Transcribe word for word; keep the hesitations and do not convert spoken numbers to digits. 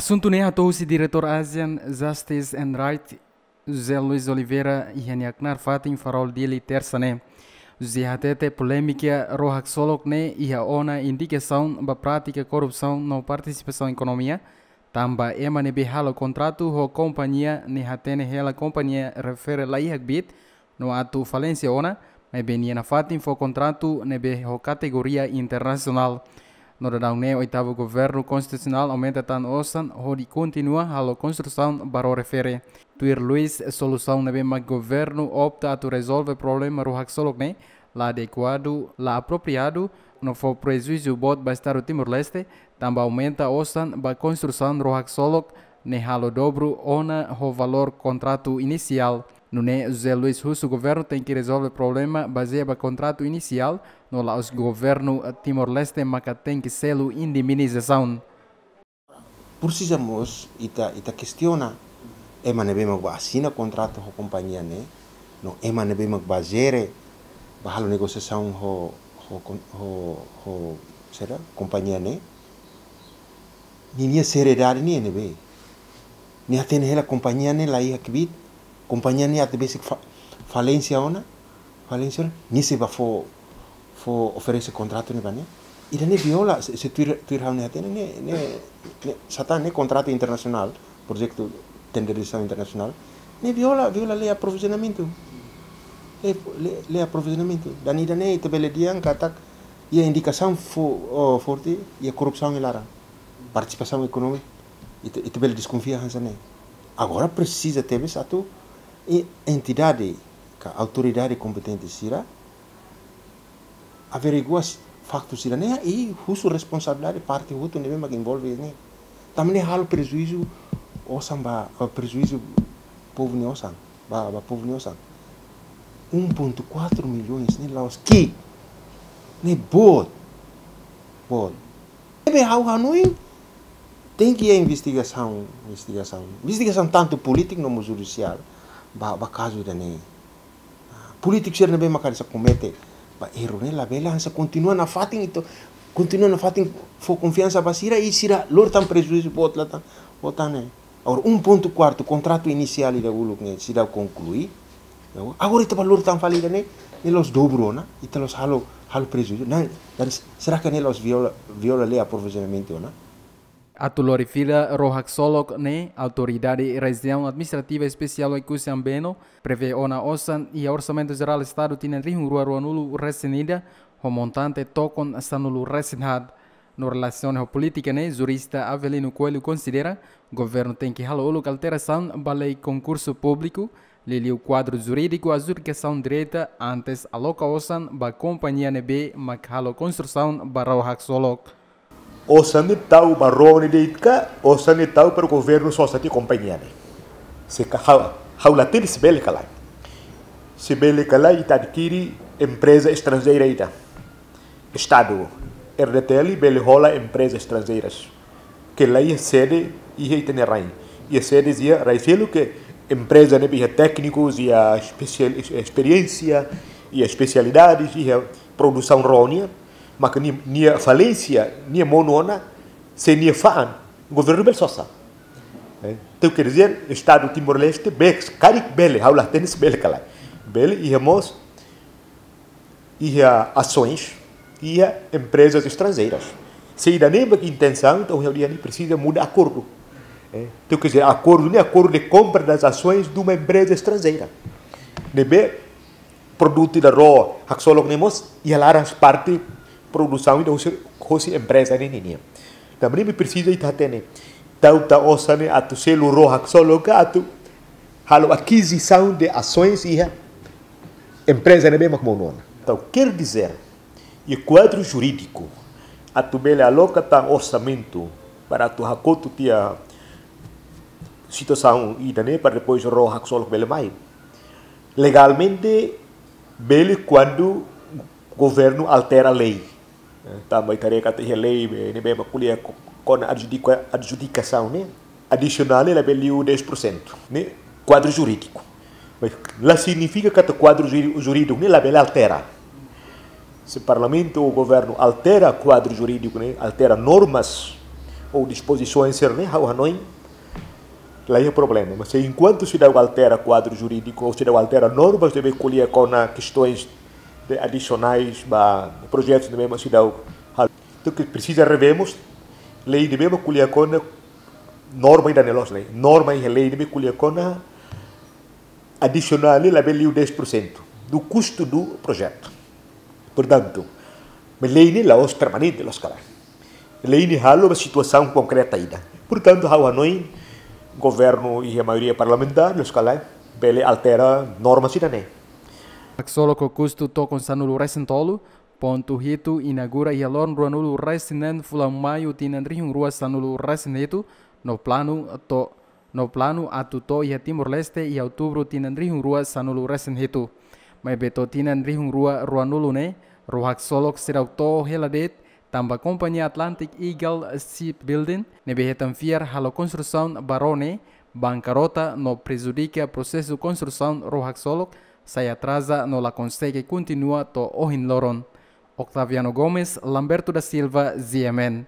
Asuntu ne'e hato'o husi Diretór ASEAN Justice and Rights, José Luis Oliveira, iha nia knaar fatin Farol Dili, Tersa ne'e. José hatete polémika ró haksolok ne'e iha ona indikasaun ba prátika korrupsaun no partisipasaun ekonomia, tanba ema ne'ebé halo kontratu ho kompañia ne'e hatene hela kompañia refere laiha kbiit no atu falénsia ona, maibé nia nafatin fó kontratu ne'ebé ho kategoria internasionál. No daudaun ne'e oitavu governu konstitusionál aumenta tan osan hodi kontinua halo konstrusaun ba ró refere. Tuir Luis, solusaun ne'ebé mak governu opta atu rezolve problema ró haksolok ne'e la adekuadu, la apropriadu, no fó prejuízu boot ba Estadu Timor-Leste, tanba aumenta osan ba konstrusaun ró haksolok ne'e halo dobru ona ho valór kontratu inisiál. Nune'e José Luis husu governu tenke rezolve problema bazeia ba kontratu inisiál, no la'ós governu Timor-Leste maka tenke selu indemnizasaun. Presiza mós ita, ita kestiona ema ne'ebé mak bá asina kontratu ho kompañia ne'e, no ema ne'ebé mak bá jere, bá halo negosiasaun ho, ho kon-, ho, ho, saida, kompañia ne'e. Ninia seriedade nian ne'ebé? Nia hatene hela kompañia ne'e laiha kbiit, kompañia ne'e atu besik fa-, falénsia ona, falénsia ona, nia sei bá fó, fó oferese kontratu ne'e ba nia. Ida-ne'e viola, se, se tuir, tuir ha'u-nia hatene, ne'e, ne'e, ne'e, satán ne'e kontratu internasionál, projetu tenderizasaun internasionál, ne'e viola, viola lei aprovizionamentu. Lei, lei, lei aprovizionamentu. Tan ida-ne'e ita bele dehan katak, iha indikasaun fo-, oh, forte, iha korrupsaun iha laran. Partisipasaun ekonomia, ita, ita bele deskonfia hanesan ne'e. Agora presiza tebes atu e-, entidade ka autoridade kompetente sira averigua s-, faktu sira-ne'e i husu responsabilidade parte hotu ne'ebé mak envolve ne'e. Tanba ne'e halo prejuízu osan ba, eh, prejuízu povu nia osan, ba, ba povu nia osan. Um ponto quatro milhões ne'e la'ós ki'ik, ne'e boot, boot. Ne'ebé ha'u hanoin, tenke iha investigasaun, investigasaun. Investigasaun tantu polítika no mós judisiál. Ba, ba kazu ida-ne'e. Polítiku sira ne'ebé mak hanesan komete ba erru ne'e labele hanesan kontinua nafatin ita, kontinua nafatin fó konfiansa ba sira i sira lori tan prejuízu boot la tan, boot tan ne'e. Agora um ponto quatro kontratu inisiál ida uluk ne'e seidauk konklui. Agora ita bá lori tan fali ida-ne'e, ne'e la'ós dobru ona, ita la'ós halo, halo prejuízu. Ne'e, dan será que ne'e la'ós viola, viola lei aprovizionamentu ona? Atu lori fila ró haksolok ne'e, Autoridade Rejiaun Administrativa Espesiál Oekusi Ambeno prevee ona osan iha Orsamentu Jerál Estadu tinan rihun rua ruanulu-resin-ida, ho montante tokon sanulu-resin-haat. No relasiona ho polítika ne'e, jurista Avelino Coelho konsidera, governu tenke halo uluk alterasaun ba lei konkursu públiku, liuliu kuadru jurídiku adjudikasaun direta, antes aloka osan ba kompañia ne'ebé mak halo konstrusaun ba ró haksolok. Osan ne'e tau ba ró ne'e de'it ka, osan ne'e tau para governu sosa tiha kompañia ne'e? Se ka ha'u, ha'u la hatene se bele ka lae. Se bele ka lae, ita adkire empreza estranjeira ida. Estadu, R D T L bele hola empreza estranjeiras ke la iha sede iha ita-nia rain. Iha sede iha rai seluk, ke empreza ne'ebé iha téknikus, iha espesiál, esperiénsia, iha espesialidades, iha produsaun ró nian, maka nia, nia falénsia, nia monu ona, se nia fa'an, governu bele sosa. Eh, entaun, quer dizer, Estadu Timor-Leste, be-, karik bele, ha'u la hatene se bele ka lae. Bele iha mós, iha asoens, iha emprezas estranjeiras. Se ida-ne'e mak intensaun, entaun, ha'u dehan ne'e presiza muda akordu. Eh, entaun, quer dizer, akordu ne'e, acordo de compra das ações de uma empresa estrangeira. Ne'ebé produtu ida ró haksolok ne'e mós iha laran parte produsaun ida hosi, hosi empreza ne'e ninian. Tanba ne'e presiza ita hatene. Tau tan osan ne'e atu selu ró haksolok ka atu halo akizisaun de asoens iha empreza ne'ebé mak monu ona. Entaun, quer dizer, iha kuadru jurídiku atu bele aloka tan orsamentu para atu hakotu tiha situasaun ida-ne'e para depois ró haksolok bele mai. Legalmente, bele kuandu governu altera lei. Eh, tanba ita haree katak iha lei, eh, ne'ebé mak ko'alia ko-, kona adjudika-, adjudikasaun ne'e, adisionál ne'e labele liu dez por cento. Ne'e kuadru jurídiku. Mas la signifika katak kuadru jurí-, jurídiku ne'e labele altera. Se parlamentu ou governu altera kuadru jurídiku ne'e, altera normas, ou dispozisaun sira-ne'e, ha'u hanoin la iha problema. Mas se enkuantu seidauk altera kuadru jurídiku ou seidauk altera normas ne'ebé ko'alia kona kestaun de adisionais ba projetus ne'ebé mak seidauk halo, entaun ke presiza revemos lei ne'ebé mak ko'alia kona norma ida-ne'e loos, lei, norma iha lei ne'ebé ko'alia kona adisionál ne'e labele liu dez por cento do custo do projeto. Portantu, maibé lei ne'e la'ós permanente, loos ka lae. Lei ne'e halo ba situasaun konkreta ida. Portantu, ha'u hanoin governu iha maioria parlamentár, loos ka lae, bele altera norma sira-ne'e. Haksolok ho kustu tokon sanulu-resin-tolu, pontu hitu, inaugura iha loron ruanulu-resin-neen fulan Maiu tinan rihun rua sanulu-resin-hitu, no planu to'o, no planu atu to'o iha Timor-Leste iha Outubru tinan rihun rua sanulu-resin-hitu. Maibé to'o tinan rihun rua ruanulu ne'e, ró haksolok seidauk to'o hela de'it, tanba kompañia Atlantic Eagle Shipbuilding ne'ebé hetan fiar halo konstrusaun ba ró ne'e, bankarota no prejudika prosesu konstrusaun ró haksolok, sai atraza no la konsege kontinua to'o ohin loron. Octaviano Gomes, Lamberto da Silva, G M N.